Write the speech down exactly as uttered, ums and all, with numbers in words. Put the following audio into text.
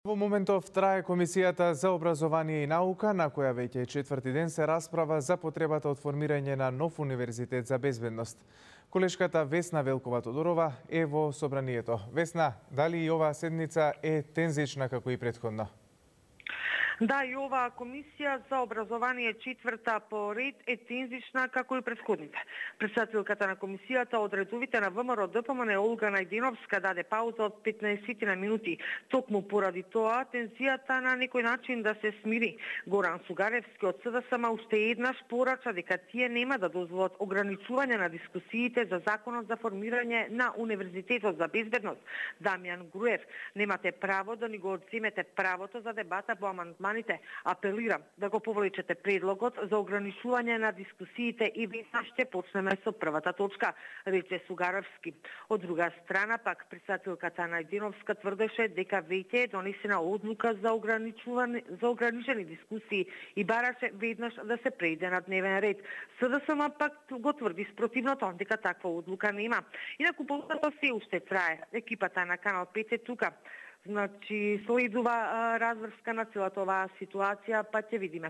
Во моментов трае Комисијата за образование и наука, на која веќе четврти ден се расправа за потребата од формирање на нов универзитет за безбедност. Колешката Весна Велкова-Тодорова е во собранието. Весна, дали и оваа седница е тензична како и претходно? Да, и оваа комисија за образование четврта по ред е тензична како и претходните. Претседателката на комисијата од редовите на ВМРО Д П М Н Олга Најденовска даде пауза од петнаесет на минути. Токму поради тоа тензијата на некој начин да се смири. Горан Сугаревски од С D S М уште еднаш порача дека тие нема да дозволат ограничување на дискусиите за законот за формирање на Универзитетот за безбедност. Дамјан Груев: немате право да ни го одземете правото за дебата по амандман. Апелирам да го повлечете предлогот за ограничување на дискусиите и веднаш ќе почнеме со првата точка, рече Сугаревски. Од друга страна пак претседателката Најденовска тврдеше дека веќе е донесена одлука за ограничување за ограничени дискусии и бараше веднаш да се преиде на дневен ред. С D S М пак го тврди спротивното, дека таква одлука нема. Инаку полутата се уште трае. Екипата на Канал пет е тука. Значи, следува разврска на целата оваа ситуација, па ќе видиме.